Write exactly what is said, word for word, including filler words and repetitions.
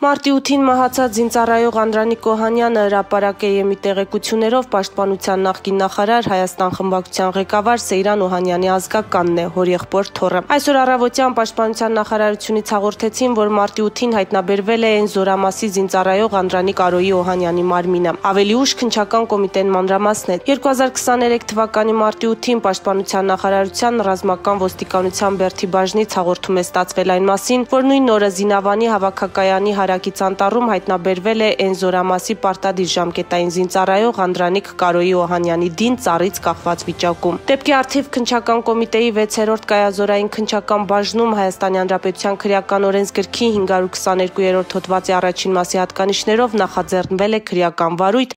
Մարտի ութին մահացած զինծառայող Անդրանիկ Օհանյանը հրապարակ է եմի տեղեկություններով պաշտպանության նախկին նախարար Հայաստան խմբակցության ղեկավար Սեյրան Օհանյանի ազգականն է, հորեղբոր թոռը։ Այսօր առավոտյան պաշտպանության նախարարությունից հաղորդեցին, որ մարտի ութին հայտնաբերվել է այն Զորամասի զինծառայող Անդրանիկ Արոյի Օհանյանի մարմինը։ Ավելի ուշ քննչական կոմիտեն մանրամասներ։ երկու հազար քսաներեք թվականի մարտի ութին պաշտպանության նախարարության ռազմական ոստիկանության Բերդի բաժնից հաղորդում է ստացվել այն մասին, որ նույն օրը Զինավանի հավաքակայանի հարակից անտառում հայտնաբերվել է այն Զորամասի պարտադիր ժամկետային զինծառայող Անդրանիկ Կարոյի Օհանյանի դին ծառից կախված վիճակում։ Դեպքի առթիվ քննչական կոմիտեի վեցերորդ կայազորային քննչական բաժնում Հայաստանի Հանրապետության քրեական օրենսգրքի հինգ հարյուր քսաներկու երրորդ հոդվածի առաջին մասի հատկանիշներով նախաձեռնվել է քրեական վարույթ,